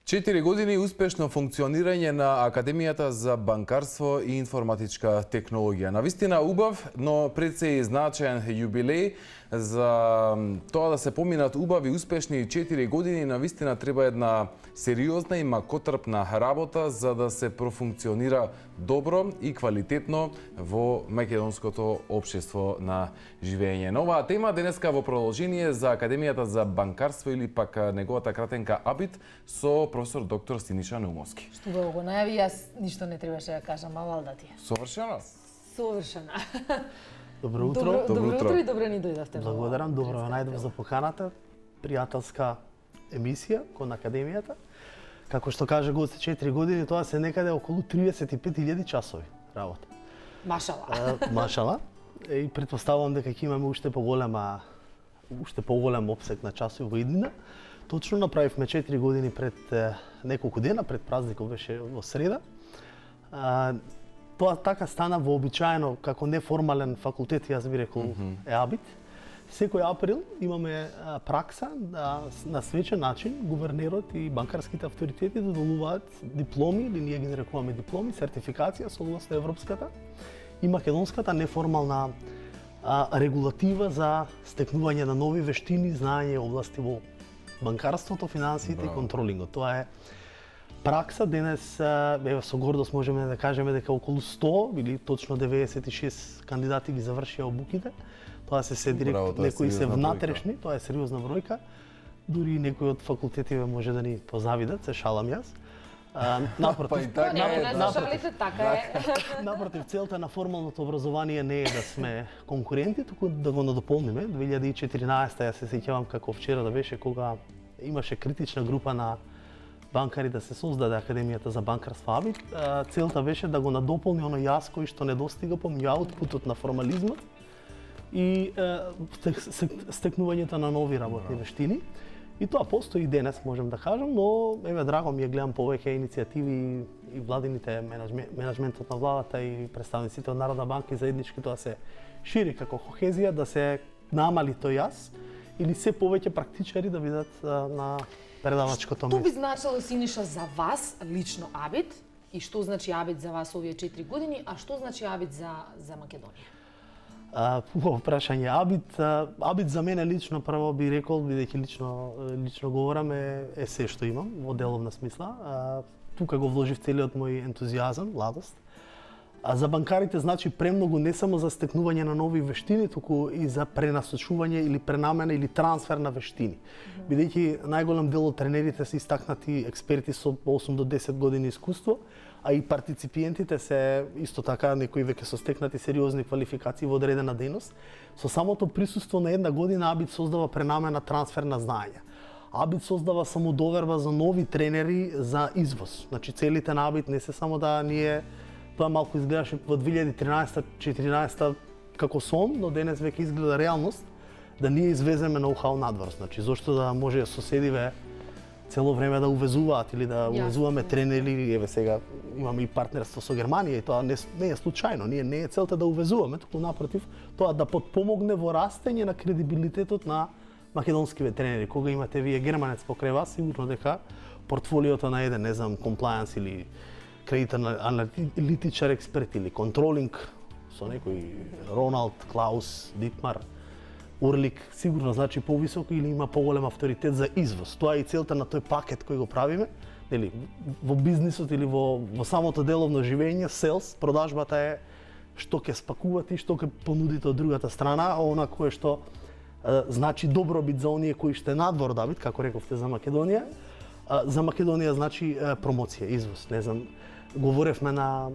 4 години успешно функционирање на Академијата за банкарство и информатичка технологија. Навистина убав, но пред се и значаен јубилеј за тоа да се поминат убави успешни 4 години. Навистина треба една сериозна и макотрпна работа за да се профункционира добро и квалитетно во македонското општество на живење. На оваа тема денеска во продолжение за Академијата за банкарство или пак неговата кратенка АБИТ со професор доктор Синиша Наумовски. Што го најави, јас ништо не требаше да кажам, а валда ти. Совршено? Совршена. Добро утро. Добро утро и добре ни дојдовте. Благодарам, добро ве најдов за поканата. Пријателска емисија кон Академијата. Како што каже гости, 4 години, тоа се некаде околу 35.000 часови работа. Машала. Машала. И претпоставувам дека ќе имаме уште поголем опсек на часови во иднина. Точно направивме 4 години пред неколку дена, пред празникот беше во среда. Тоа така стана вообичаено како неформален факултет, јас би рекол е АБИТ. Секој април имаме пракса да на свечен начин гувернерот и банкарските авторитети додолуваат дипломи, или ние ги нарекуваме дипломи, сертификација согласно европската и македонската неформална регулатива за стекнување на нови вештини, знаење области во банкарството, финансиите и контролингот. Тоа е пракса. Денес со гордост можеме да кажеме дека околу 100 или точно 96 кандидати ги завршија обуките. Тоа се директ, некои се внатрешни, тоа е сериозна бројка. Дури некои од факултетиве може да ни позавидат, се шалам јас. Напротив, напротив, целта на формалното образование не е да сме конкуренти, туку да го надополниме. 2014 ја се сеќавам како вчера да беше кога имаше критична група на банкари да се создаде Академијата за банкарство АБИТ. Целта беше да го надополни оно јас кој што недостига помеѓу аутпутот на формализмот и стекнувањето на нови работни вештини. И тоа постои и денес, можем да кажам, но еве драго ми е гледам повеќе иницијативи и владините менеджментот на владата и представниците од Народна банка и заеднички тоа се шири како кохезија, да се намали тој јас или се повеќе практичари да видат на предавачкото место. Што би значило, Синиша, за вас лично АБИТ и што значи АБИТ за вас овие 4 години, а што значи АБИТ за Македонија? Во прашање АБИТ за мене лично, прво би рекол, бидејќи лично говорам, е се што имам во деловна смисла. Тука го вложив целиот мој ентузијазам, младост. За банкарите значи премногу не само за стекнување на нови вештини, туку и за пренасочување или пренамена или трансфер на вештини. Бидејќи најголем дел од тренерите се истакнати експерти со 8 до 10 години искуство, а и партиципиентите се исто така некои веќе со стекнати сериозни квалификации во одредена дејност. Со самото присуство на една година АБИТ создава пренамена, трансфер на знаења. АБИТ создава самодоверба за нови тренери за извоз. Значи целите на АБИТ не се само да ние, тоа малку изгледаше во 2013-14 како сон, но денес веќе изгледа реалност, да ние извеземе ноу-хау надвор. Значи зошто да може соседиве цело време да увезуваат или да увезуваме тренери, еве сега имаме и партнерство со Германија и тоа не е случајно. Ние не е целта да увезуваме, туку напротив, тоа да потпомогне во растење на кредибилитетот на македонскиве тренери. Кога имате вие германец покрај вас, сигурно дека портфолиото на еден, не знам, комплајанс или кредитен аналитичар експерт или контролинг со некој Роналд, Клаус, Дитмар, Урлик, сигурно значи повисоко или има поголем авторитет за извоз. Тоа е и целта на тој пакет кој го правиме, нели, во бизнисот или во самото деловно живење, селс, продажбата е што ќе спакувате и што ќе понудите од другата страна, а она кое што значи добробит за оние кои што е надвор од АБИТ, како рековте за Македонија. За Македонија значи промоција, извоз. Не знам, говоревме на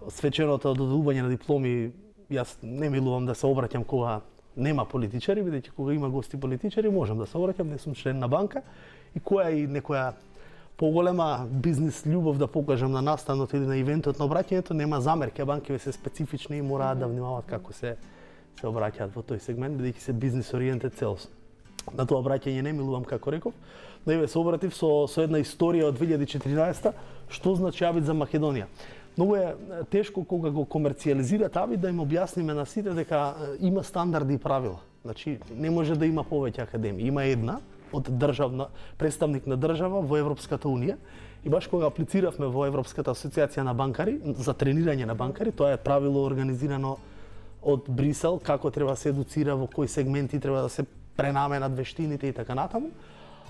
свеченото додувување на дипломи. Јас не милувам да се обраќам кога нема политичари, бидејќи кога има гости политичари можам да се обраќам, не сум член на банка и која и некоја поголема бизнис љубов да покажам на настанот или на ивентот на обраќањето, нема замерки, а банките се специфични и мораат да внимаваат како се обраќаат во тој сегмент, бидејќи се бизнис ориентед целосно. На тоа обраќање не милувам, како реков, но еве се обратив со една историја од 2014 што значи АБИТ за Македонија. Многу е тешко кога го комерцијализират АБИТ да им објасниме на сите дека има стандарди и правила. Значи не може да има повеќе академии. Има една од представник на држава во Европската унија. И баш кога аплициравме во Европската асоциација на банкари за тренирање на банкари, тоа е правило организирано од Брисел, како треба се едуцира, во кои сегменти треба да се пренаменат вештините и така натаму.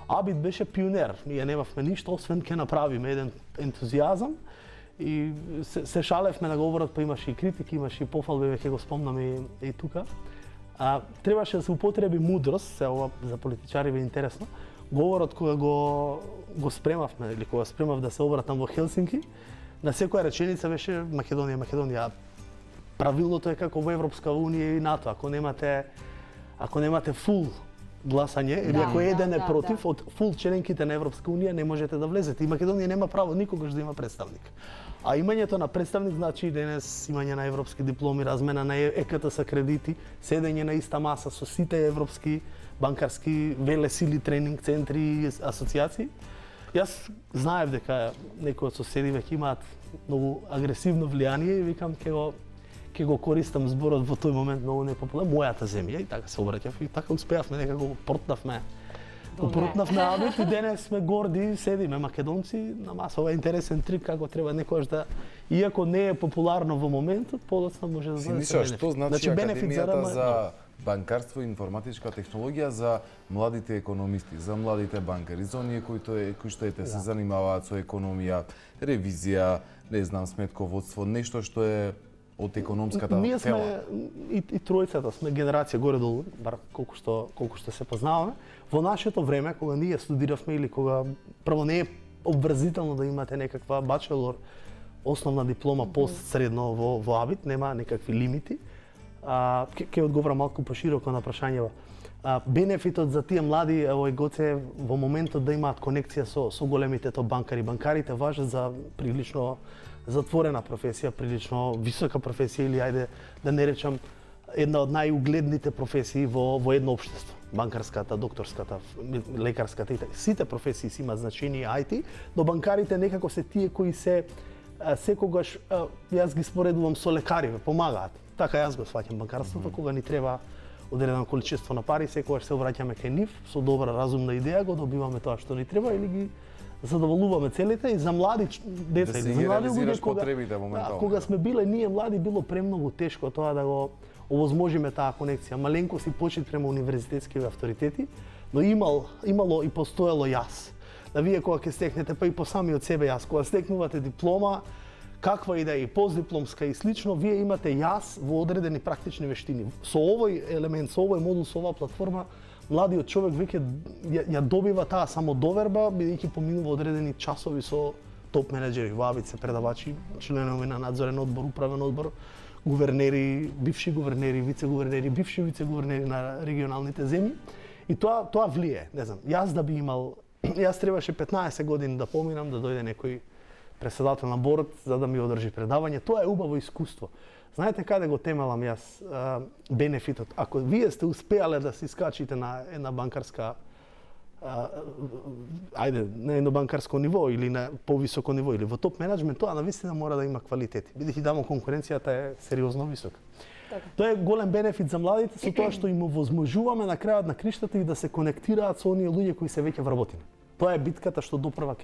Абит беше пионер. Ние немавме ништо освен ке направиме еден ентузијазам и се шалевме на говорот, па имаше и критики, имаше и пофалби, веќе го спомнаме и тука. Требаше да се употреби мудрост, се ова за политичари е интересно. Говорот кога го спремавме или кога спремав да се обратам во Хелсинки, на секоја реченица беше Македонија, Македонија. Правилото е како во Европска унија и НАТО, ако немате фул гласање или ако еден е против од фул членките на Европска унија не можете да влезете. И Македонија нема право никогаш да има представник. А имањето на представник значи денес имање на европски дипломи, размена на ЕКТС кредити, седење на иста маса со сите европски банкарски велесили, тренинг центри и асоциации. Јас знаев дека некои од соседи веќе имаат многу агресивно влијание и викам ќе го користам зборот во тој момент многу непопуларен, мојата земја, и така се обраќав и така успеавме дека го портнавме. Упрутнавме Абит и денес сме горди, седиме македонци на маса. Ова е интересен трик како треба некојаш да, иако не е популарно во моментот, подоцна може да се бенефит. Што значи Академијата за банкарство и информатичка технологија за младите економисти, за младите банкари, за оние кои што се занимаваат со економија, ревизија, не знам, сметководство, нешто што е од економската ние сме, тема. И тројцата сме генерација горе-долу, бар колку што се познаваме. Во нашето време, кога ние студиравме или кога прво не е обврзително да имате некаква бачелор, основна диплома постсредно во Абит, нема некакви лимити. Ќе одговорам малку пошироко на прашањево. Бенефитот за тие млади овој Гоце во моментот да имаат конекција со големите банкари. Банкарите важат за прилично затворена професија, прилично висока професија или ајде да не речам една од најугледните професии во едно општество. Банкарската, докторската, лекарската и така. Сите професии си имаат значение IT, но банкарите некако се тие кои се секогаш јас ги споредувам со лекари, помагаат. Така јас го сваќам банкарството, кога ни треба одредено количество на пари, секогаш се обраќаме кај нив со добра разумна идеја, го добиваме тоа што ни треба или ги задоволуваме целите и за млади деца или за млади луѓе кога сме биле ние млади било премногу тешко тоа да го овозможиме таа конекција. Маленко си почит према универзитетските авторитети, но имало и постоело јас. Да вие кога ќе стекнете, па и по сами од себе јас, кога стекнувате диплома, каква и да е постдипломска и слично, вие имате јас во одредени практични вештини. Со овој елемент, со овој модул, со оваа платформа, младиот човек веќе ја добива таа самодоверба, бидејќи поминува одредени часови со топ менеџери, вабице, предавачи, членови на надзорен одбор, управен одбор, гувернери, бивши гувернери, вице-гувернери, бивши вице-гувернери на регионалните земји. И тоа влие, не знам. Јас требаше 15 години да поминам, да дојде некој председател на борд за да ми одржи предавање. Тоа е убаво искуство. Знаете каде го темелам јас бенефитот? Ако вие сте успеале да се искачите на една банкарска на едно банкарско ниво или на повисоко ниво или во топ менеджмент, тоа навистина мора да има квалитети. Бидејќи дамо конкуренцијата е сериозно висока. Тоа е голем бенефит за младите со тоа што им овозможуваме на крајот на криштата и да се конектираат со оние луѓе кои се веќе вработени. Тоа е битката што допрва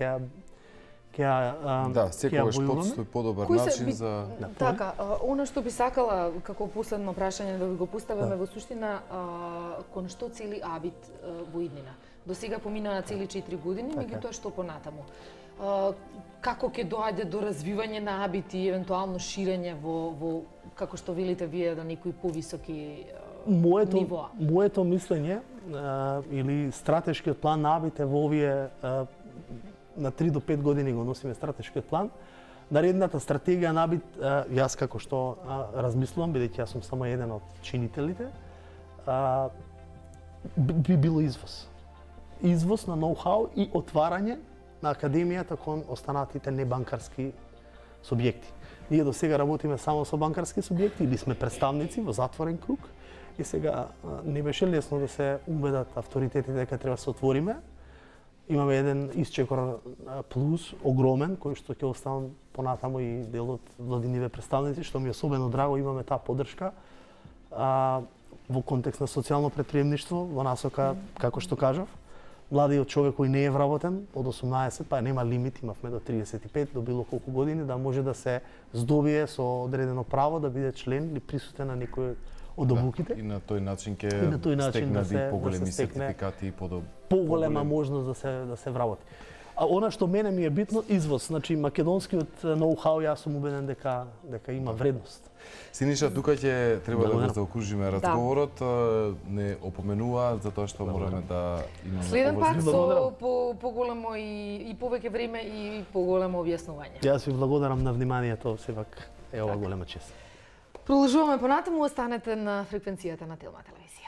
секогаш подстои подобар начин за... Така, она што би сакала како последно прашање да ви го поставиме во суштина, кон што цели Абит во иднина? До сега поминаа цели 4 години, меѓутоа што понатаму? Како ќе доаѓе до развивање на Абит и евентуално ширење во како што велите вие на некои повисоки нивоа? Моето мислење или стратешкиот план на Абит е во овие на 3 до 5 години го носиме стратешкиот план. Наредната стратегија на Абит, јас како што размислувам, бидејќи јас сум само еден од чинителите, би било извоз. Извоз на ноу-хау и отварање на академијата кон останатите небанкарски субјекти. Ние до сега работиме само со банкарски субјекти или сме представници во затворен круг и сега не беше лесно да се убедат авторитетите дека треба да се отвориме. Имаме еден исчекор плюс, огромен, кој што ќе оставам понатаму и дел од владиниве представници, што ми е особено драго, имаме таа поддршка во контекст на социјално претприемништво, во насока, како што кажав, младиот човек кој не е вработен од 18, па нема лимит, имавме до 35, до било колку години, да може да се здобие со одредено право да биде член или присутен на некој од обуките. И на тој начин ќе да стекне се поголеми стекне сертификати и поголема можност да се вработи. А она што мене ми е битно, извоз. Значи, македонскиот ноу-хау, јас сум убеден дека има вредност. Синиша, тука ќе треба да го заокружиме разговорот. Не опоменува за тоа што мораме да имаме Следен пат со поголемо и повеќе време и поголемо објаснување. Јас ви благодарам на вниманието, сепак е ова голема чест. Продолжуваме понатаму, останете на фреквенцијата на Телма телевизија.